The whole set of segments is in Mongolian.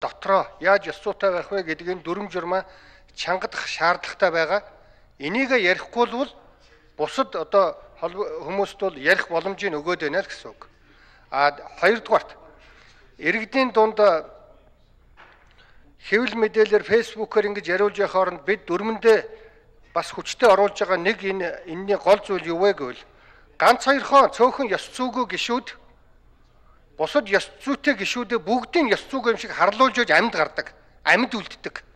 дотроо яаж ёс зүйтэй байх вэ гэдгийг дүрм журмаа чангадах шаардлагатай байгаа. Энийг ярихгүй бол бусад одоо хүмүүст бол ярих боломжийг өгөөд байна л гэсэн үг. Хоёрдугаарт иргэдийн дунд хэвлэл мэдээлэлээр фэйсбүүкээр ингэж яриулж явах хооронд бид дүрмэндээ бас хүчтэй оруулж байгаа нэг энэний гол зүйл юу вэ гэвэл ганц хоёрхон цөөхөн ёс зүйгүй гишүүд бусад ёс зүйтэй гишүүдэд бүгдийн ёс зүйг юм шиг харлуулж өгж амьд гардаг, амьд үлддэг.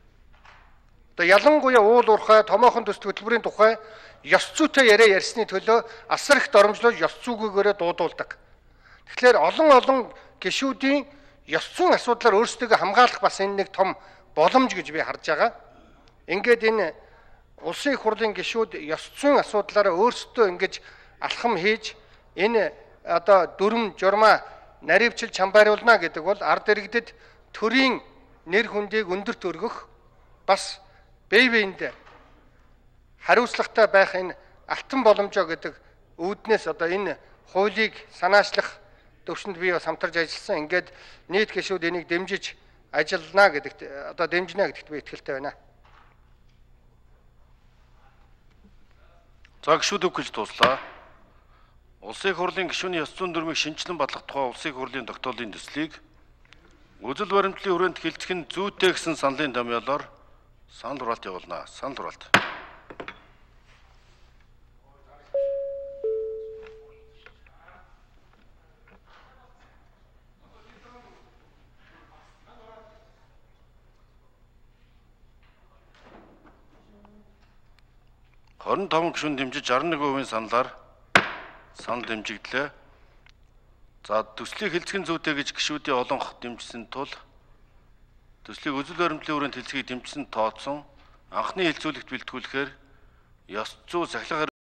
Одоо ялангуяа уул уурхай, томоохон төс хөтөлбөрийн тухай ёс зүйтэй яриа ярьсны төлөө асар их доромжлож ёс зүйгээрээ дуудуулдаг. Тэгэхээр олон гишүүдийн ёс зүйн асуудлаар өөрсдөө хамгаалах бас энэ нэг том боломж гэж би харж байгаа. Ингээд энэ улсын их хурлын гишүүд ёс зүйн асуудлаараа өөрсдөө ингэж алхам хийж энэ одоо дүрм журмаа наривчилж хамбааруулна гэдэг бол ард иргэдэд төрийн нэр хүндийг өндөрт өргөх бас бие биендээ хариуцлагатай байх энэ алтан боломжоо гэдэг үүднээс одоо энэ хуулийг санаачлах төвшөнд би бас хамтарч ажилласан. Ингээд нийт гишүүд энийг дэмжиж ажиллана гэдэгт одоо дэмжинэ гэдэгт би итгэлтэй байна. За гишүүд үг гэж дуслаа. Улсын их хурлын гишүүний ёс зүйн дүрмийг шинжилэн батлах тухай улсын их хурлын тогтоолын төслийг үзэл баримтлалын хүрээнд хэлцэх нь зүйтэй гэсэн саналын томьёолоор санал хураалт явуулна. Санал хураалт. Хорин 5 гишүүн дэмжиж 61% саналаар санал дэмжигдлээ. За төслийг хэлцэх зүйтэй гэж гишүүдийн олонх дэмжсэн тул төслийг үзэл баримтлалын хүрээнд хэлцгийг дэмжсэн тооцсон анхны хэлцүүлэгт бэлтгүүлэхээр ёс зүй сахилга